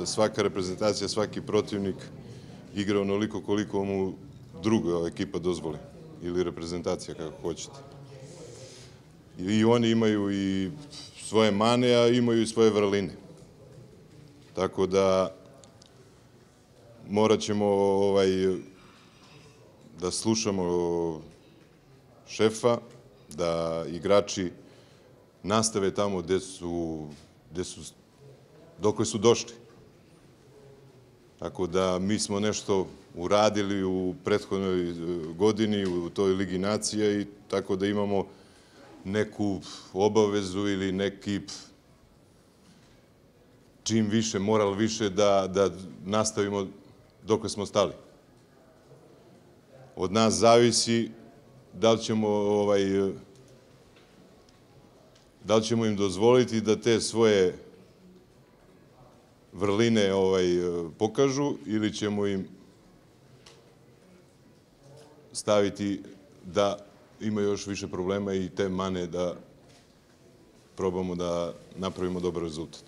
da svaka reprezentacija, svaki protivnik igra onoliko koliko mu druga ekipa dozvoli ili reprezentacija, kako hoćete. I oni imaju i svoje mane, a imaju i svoje vrline. Tako da morat ćemo da slušamo šefa, da igrači nastave tamo dokle su došli. Tako da mi smo nešto uradili u prethodnoj godini u toj Ligi nacija i tako da imamo neku obavezu ili neki čim više, moral više da nastavimo dokle smo stali. Od nas zavisi da li ćemo im dozvoliti da te svoje vrline pokažu ili ćemo im staviti da ima još više problema i te mane da probamo da napravimo dobar rezultat.